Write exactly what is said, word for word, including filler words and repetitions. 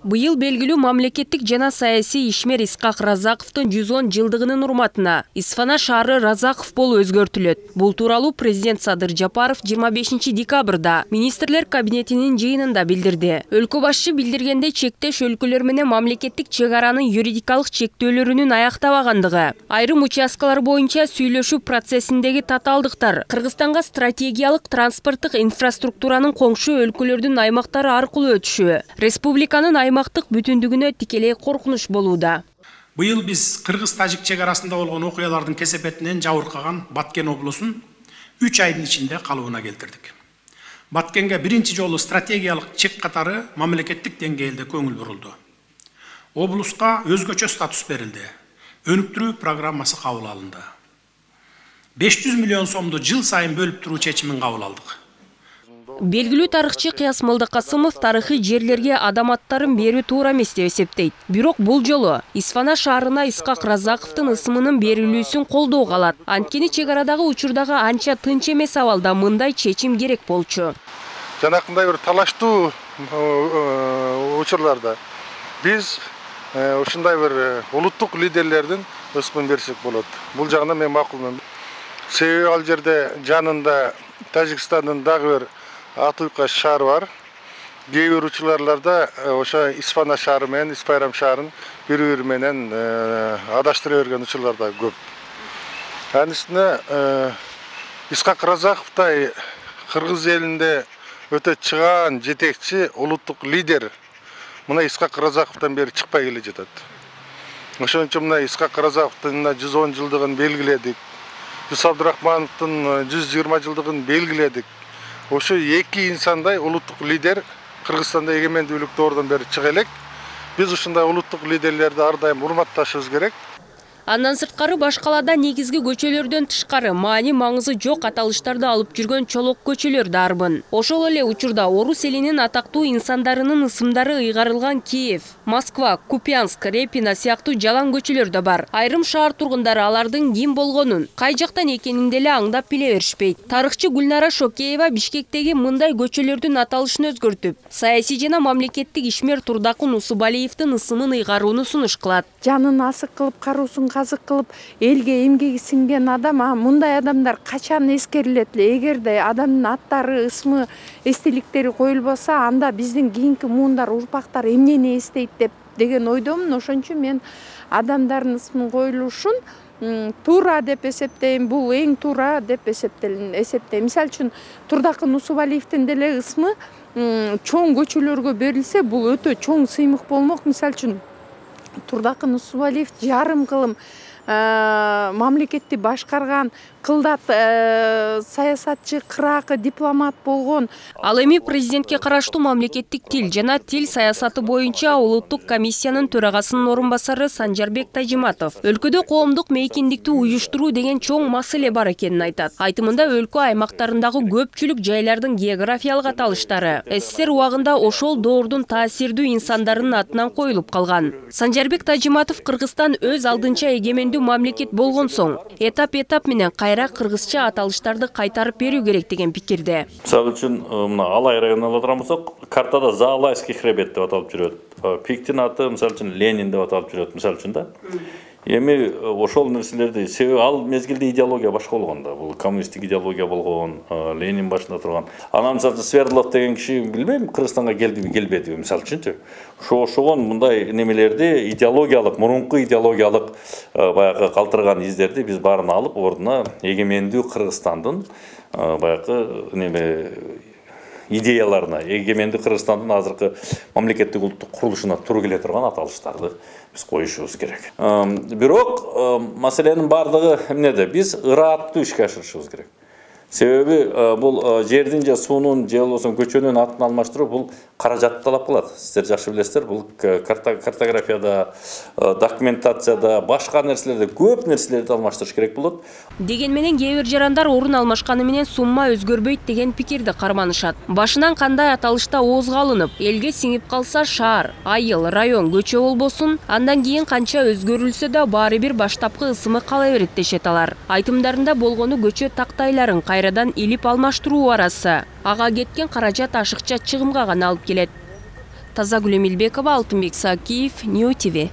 Быйыл белгилүү мамлекеттик жана саясий ишмер Исқақ Разақовдун жүз он жылдыгынын урматына Исфана шаары Разақов болуп өзгөртүлөт. Бул тууралуу президент Садыр Жапаров жыйырма бешинчи декабрда министрлер кабинетинин жыйынында билдирди. Өлкө башчы билдиргендей, чектеш өлкөлөр менен мамлекеттик чек аранын юридикалык чектөөлөрүнүн аяктабагандыгы, айрым участкалар боюнча сүйлөшүү процессиндеги татаалдыктар Кыргызстанга стратегиялык транспорттук инфраструктуранын коңшу өлкөлөрдүн аймактары аркылуу өтүшү республиканын аймактык бүтүндүгүнө тикелей коркунуч болууда. Быйыл биз Кыргыз-Тажик чек арасында болгон окуялардын кесепетинен жабыркаган Баткен облусун үч айдын ичинде калыбына келтирдик. Баткенге биринчи жолу стратегиялык чек катары мамлекеттик деңгээлде көңүл бурулду. Облуска өзгөчө статус берилди. Өнүктүрүү программасы кабыл алынды. беш жүз миллион сомду жыл сайын бөлүп туруу чечимин кабыл алдык. Белгилүү тарыхчы Кыяс Молдокасымов тарыхый жерлерге адам аттарын берүү туура эмес деп эсептейт. Бирок бул жолу Исфана шаарына Исқақ Разақовдун ысымынын берилүүсүн колдоого алат. Анткени чек арадагы учурдагы анча тынч эмес абалда мындай чечим керек болчу. Жанакындай бир талаштуу учурларда биз ушундай бир улуттук лидерлердин ысымын берсек болот. Бул жагынан мен макулмун. Себеби ал жерде жанында Тажикстандын дагы бир Атуйка шаар бар. Кээ бир учурларда ошо Исфана шаары менен Испайрам шаарын бири-бири менен адаштыра берген учурлар да көп. Анын үстүнө Исқақ Разақовдай кыргыз элинде өтө чыгаан жетекчи улуттук лидер мына Исқақ Разақовдон бери чыкпай келе жатат. Ошон үчүн мына Исқақ Разақовдун жүз он жылдыгын белгиледик. Жүс Абдурахмановдун жүз жыйырма жылдыгын белгиледик. Ошо эки инсандай улуттук лидер Кыргызстанда эгемендүүлүктү ордон бери чыга элек. Биз ушундай улуттук лидерлерди ар дайым урматташыбыз керек. Андан сырткары башкалада негизги көчөлөрдөн тышкары маани маңызы жок аталыштарды алып жүргөн чолок көчөлөр дарбын. Ошол эле учурда орус элинин атактуу инсандарынын ысымдары ыйгарылган Киев, Москва, Купянск, Репино сыяктуу жалаң көчөлөр да бар. Айрым шаар тургундары алардын ким болгонун, кай жактан экенин деле аңдап биле беришпейт. Тарыхчы Гүлнара Шокеева Бишкектеги мындай көчөлөрдүн аталышын өзгөртүп, саясий жана мамлекеттик ишмер Турдакун Усубалиевдин ысымын ыйгарууну сунуш кылат. Жанын асык кылып, каруусун казык кылып, элге эмгеги сиңген адам, а мындай адамдар качан эскерилет эле? Эгерде адамдын аттары, ысмы, эстеликтери коюлбаса, анда биздин кийинки муундар, урпактар эмнени эстейт деп деген ойдомун. Ошон үчүн мен адамдардын ысмын коюлушун туура деп эсептейм. Бул эң туура деп эсептейм. Мисалы үчүн Турдакун Усубалиевдин деле ысмы чоң көчөлөргө берилсе, бул өтө чоң сыймык болмок. Мисалы үчүн Турдакун Усубалиев жарым кылым мамлекетти башкарган кылдат саясатчы, кыракы дипломат болгон. Ал эми президентке караштуу мамлекеттик тил жана тил саясаты боюнча улуттук комиссиянын төрагасынын орун басары Санжарбек Тажиматов өлкөдө коомдук мейкиндикти уюштуруу деген чоң маселе бар экенин айтат. Айтымында өлкө аймактарындагы көпчүлүк жайлардын географиялык аталыштары СССР убагында ошол доордун таасирдүү инсандарынын атынан коюлуп калган. Санжарбек Тажиматов Кыргызстан өз алдынча эгемендүү мамлекет болгон соң этап-этап менен кайра кыргызча аталыштарды кайтарып берүү керек деген пикирде. Мисалы үчүн мына Алай районуна алган болсок, картада Заалайский хребет деп аталып жүрөт. Пиктин аты мисалы үчүн Ленин деп аталып жүрөт, мисалы үчүн да. Эми ошол нерселерди себеби ал мезгилде идеология башка болгон да. Бул коммунисттик идеология болгон, Ленин башында турган. Анан мисалы үчүн Свердлов деген киши билбейм, Кыргызстанга келдиби, келбедиби мисалы үчүнчү. Ошо ошогон мындай немелерди идеологиялык, мурунку идеологиялык баягы калтырган издерди биз баарын алып, ордуна эгемендүү Кыргызстандын баягы неме идеяларына, эгемендүү Кыргызстандын азыркы мамлекеттик улуттук курулушуна туура келе турган аталыштарды биз коюшубуз керек. Бирок маселенин бардыгы эмнеде? Биз ырааттуу ишке ашырышыбыз керек. Себеби бул жердин же суунун же болбосо көчөнүн атын алмаштыруу бул каражат талап кылат. Сиздер жакшы билесиздер, бул картографияда, документацияда, башка нерселерде көп нерселерди алмаштырыш керек болот. Деген менен кээ бир жарандар орун алмашканы менен сумма өзгөрбөйт деген пикирди карманышат. Башынан кандай аталышта оозго алынып, элге сиңип калса шаар, айыл, район, көчө болбосун, андан кийин канча өзгөрүлсө да баары бир баштапкы ысымы кала берет дешет алар. Айтымдарында болгону көчө тактайларын кайрадан илип алмаштыруу арасы. Ага кеткен каражат ашыкча чыгымга гана алып келет. Тазагүл Эмилбекова, Алтынбек Сакиев, Нью ТВ.